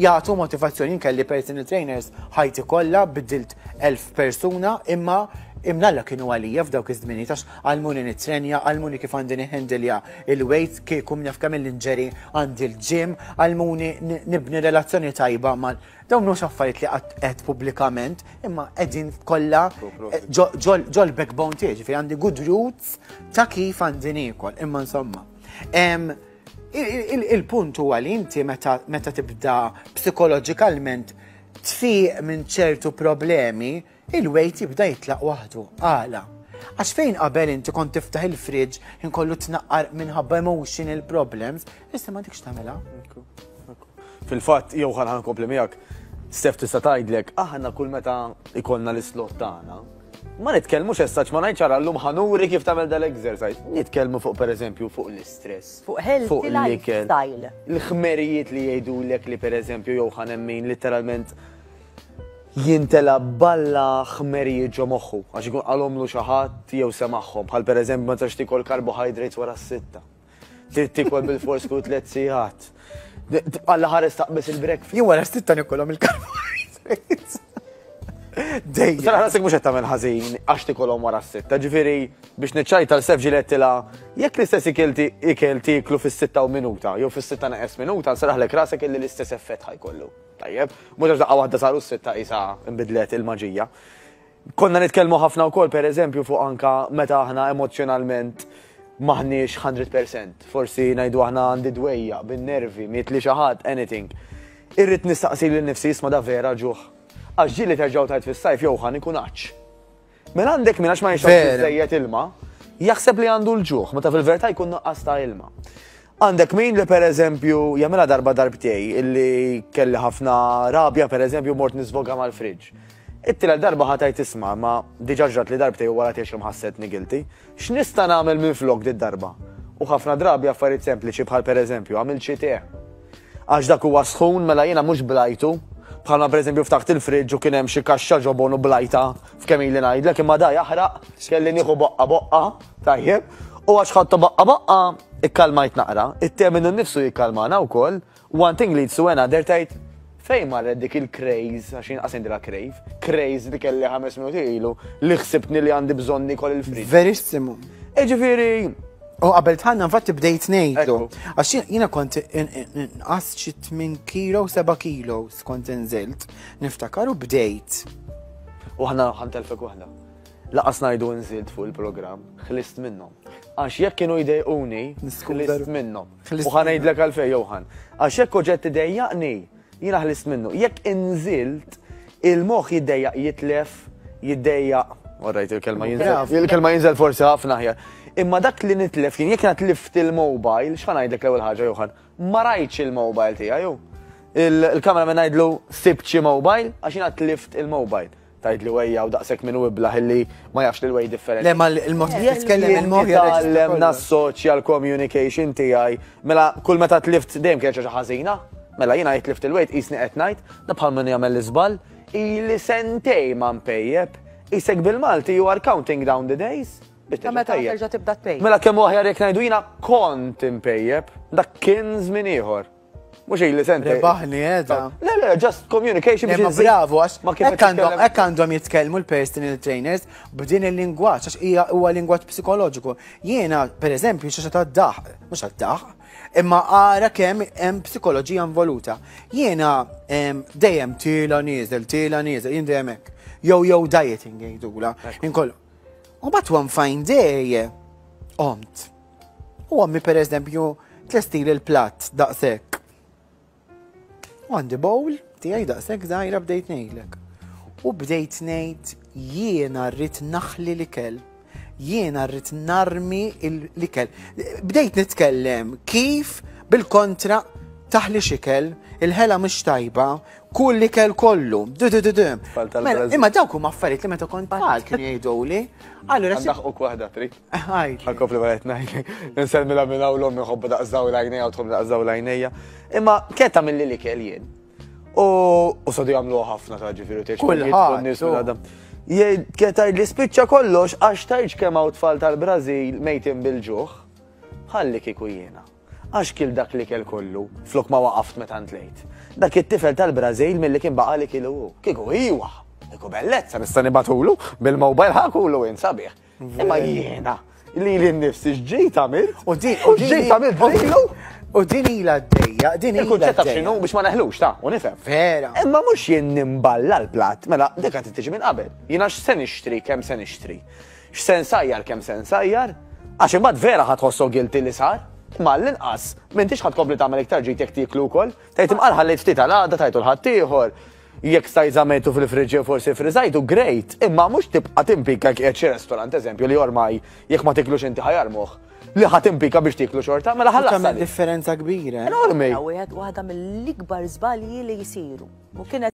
Jagħtu motivazzjoni. Jien kelli personal trainers ħajti kollha, biddilt 1000 persuna, imma imnalla kienu għalija f'dawk iż-żminijiet għax għallmuni nittrenja, għallmuni kif għandi nihandilja il-weight, kieku naf kemm il-inġeri għandi l-gym, għallmuni nibni relazzjoni tajba mal dawn mhux affarijiet li qatt qed pubblikament, imma qegħdin kollha ġol backbone tiegħi, ġifieri għandi good roots ta' kif għandi niekol, imma insomma. Il-punt huwa li inti meta tibda psikoloġikalment tfiq minn ċertu problemi, il-weight jibda jitlaq waħdu. Għala? Għax fejn qabel inti kont tiftaħ il-fridge inkollu tnaqqar minħabba emotional problems, issa ma dikx tagħmilha. Fil-fatt, jew ħa nkompli miegħek, Steph tista' tgħidlek, aħna kull meta ikollna l-islot tagħna, ma nitkellmux essaċ ma ngħidx ara llum ħa nuri kif tagħmel dal-exercise. Nitkellmu fuq, pereżempju, fuq l-istress. Fuq healthy fuq l-ikel. Lifestyle. Il-ħmerijiet li jgħidulek li, pereżempju, jew ħa nemmin literalment jintela balla ħmerijiet ġo moħħu għax ikun qalhomlu xi ħadd jew semagħhom, bħal pereżempju ma tistax tikol carbohydrates wara s-6. Trid tikol bil-fors kull 3 sigħat. Alla ħares taqbes il-breakfast. Jien wara s-6 nikolhom il-carbohydrates. Dejjem. Sara ħasek mhux qed tagħmel ħażin għax tikolhom wara s-6. Ġifieri biex niċċajta l-sef ġilettilha jekk l-istess ikel tieklu fis-6 u minuta jew fis-6 neqes minuta, nsaraħlek rasek illi l-istess effett ħajkollu. Tajjeb, mhux għax daqqa waħda saru s-6 isa nbidlet il-maġija. Konna nitkellmu ħafna wkoll, pereżempju, fuq anka meta aħna emozjonalment maħniex 100%. Forsi ngħidu aħna għandi dwejja, bin-nervi, miet li xi ħadd, anything. Irrid nistaqsi lil nifsi, isma', da vera ġuħ? Għax ġieli terġgħu tajt fis-sajf jew ħan ikun għatx. Mela għandek min għax ma jixrobx biżejjed ilma, jaħseb li għandu l-ġuħ, meta fil-verità jkun nuqqas ta' ilma. Għandek min li, pereżempju, jagħmilha darba darbtej illi kelli ħafna rabja, pereżempju, mort nisvoga mal-friġġ. It-tielet darba ħa tgħid, isma', ma diġà ġrat li darbtej u wara tgħix ħassetni guilty. X'nista' nagħmel minn flok dit darba? U ħafna drabi affarijiet sempliċi bħal, pereżempju, għamilt xi te. Għax dak huwa sħun, mela jiena mhux blajtu. Bħalma, pereżempju, ftaħt il-friġġ u kien hemm xi kaxxa ġobon u blajta f'kemm ili ngħidlek, imma da jaħraq, kelli nieħu boqqa boqqa, tajjeb. U għax ħadtu boqqa boqqa, ikkalmajt naqra. It-te minnu nnifsu jikkalmana wkoll. One thing leads to another, tgħid fejn marret dik il-craze, għax jien qas ngħidilha crave, craze li kelli 5 minuti ilu li ħsibtni li għandi bżonn nikol il-friġġ. Verissimu. Ġifieri, U qabel tħanna infatti bdejt ngħidlu. Ekku. Għax jiena kont nqas xi 8 kilo, 7 kilo kont inżilt. Niftakar u bdejt. U ħna ħa ntelfek waħda. Lanqas ngħidu nżilt fuq il-programm, ħlist minnhom. Għax jekk kienu jdejquni, Niskuża ħlist minnhom. Ħlist U ħa ngħidlek għalfejn, Johan. Għax jekk oġġett idejjaqni, jiena ħlist minnu. Jekk inżilt, il-moħħ jiddejjaq jitlef, jiddejjaq. Orrajt, il-kelma jinżel. Bravo. Il-kelma jinżel forsi ħafna aħjar. Imma dak li nitlef jien, jekk jiena tlift il-mobile, x'ħa ngħidlek l-ewwel ħaġa, Johan? Ma rajtx il-mobile tiegħi ju. Il-kamera minn ngħidlu sibt xi mobile, għax jiena tlift il-mobile. Tgħid li wejja u daqshekk minn iblah illi ma jafx li l-way differenti. Le, ma il-mod kif titkellem il-mod Tgħallem nassoċja l-communication tiegħi. Mela kull meta tlift dejjem kienet xi ħażina. Mela jiena jtlift il-weight qisni qed ngħid, da bħal min jagħmel l-iżball, ili sentej ma npejjeb. Isek bil-Malti you are counting down the days biex Ta' terġa' meta tpejjep. terġa' tibda tpejjep. Mela kemm hu aħjar jekk ngħidu jiena kont impejjeb, dak kien żmien ieħor. Mhux ili sentej. Rebaħni edha. Le, le, just communication Le, biex ma inżid bravo, għax ma kif hekk għandhom titkellem. hekk għandhom jitkellmu l-personal trainers b'din il-lingwaġġ, għax hija huwa lingwaġġ psikoloġiku. Jiena, per eżempju, xi ta' daħ, mhux għad-daħ, imma ara kemm hemm psikoloġija involuta. Jiena dejjem tiela nieżel, tiela nieżel, jien dejjem hekk. Yo-yo dieting jgħidula. Inkollu. U but one fine day, qomt. U ommi, per eżempju, tlestili l-platt daqshekk. U għandi bowl tiegħi daqshekk żgħira, bdejt ngħidlek. U bdejt ngħid, jiena rrid naħli l-ikel. Jiena rrid narmi l-ikel. Bdejt nitkellem kif bil-kontra taħli xikel, il-ħela mhux tajba, kull l-ikel kollu. Du du du du. Tfal Mela, tal-Brażil. imma dawk huma affarijiet li meta kont tfal kienu jgħiduli. Allura Għandaħ waħda trid. Għajd. Għal-kopli ma qed ngħidlek. Nsellmilha minn hawn l-ommi, ħobba daqs daw l-għajnejja u tħobb daqs daw l-għajnejja. Imma keta mill l-ikel jien. U sodu jagħmlu ħafna ta' ġifieri tgħix Kulħadd, nies minn għadam. Jgħid keta li spiċċa kollox għax tgħidx kemm hawn tfal tal-Brażil mejtin bil-ġuħ. Ħalli kieku jiena. Għax kil dak li kell kollu, flok ma waqaft meta ntlejt. dak it-tifel tal-Brażil milli kien baqa' li kielu hu. Kieku iwa, kieku bellezza nista' nibgħatulu bil-mobile ħa kulu int sabiħ. Imma jiena li li nnifsi x'ġejt għamilt. U din u x'ġejt għamilt lilu. U din ilha għaddejja, din ilha. Il-kunċett taf x'inhu biex ma neħlux ta' u nifhem. Vera. Imma mhux jien nimballa l-platt, mela dik qed tiġi minn qabel. Jiena x'se nixtri kemm se nixtri. X'se nsajjar kemm se nsajjar, għax imbagħad vera ħa tħossok guilty li sar. Imma għall-inqas m'intix ħa tkompli tagħmel iktar ġid jekk tieklu wkoll. Tgħid imqar ħallejt ftit għal għada tajtu 'l ħaddieħor. Jekk stajt żammejtu fil-fridge jew forsi friżajtu, great, imma mhux tibqa' timpika jekk qiegħed xi restaurant eżempju li ormai jekk ma tiklux inti ħa jarmuh, li ħa timpika biex tieklu xorta, mela ħallas. Tagħmel differenza kbira. Enormi. Wieħed waħda mill-ikbar żbalji li jsiru. U kienet.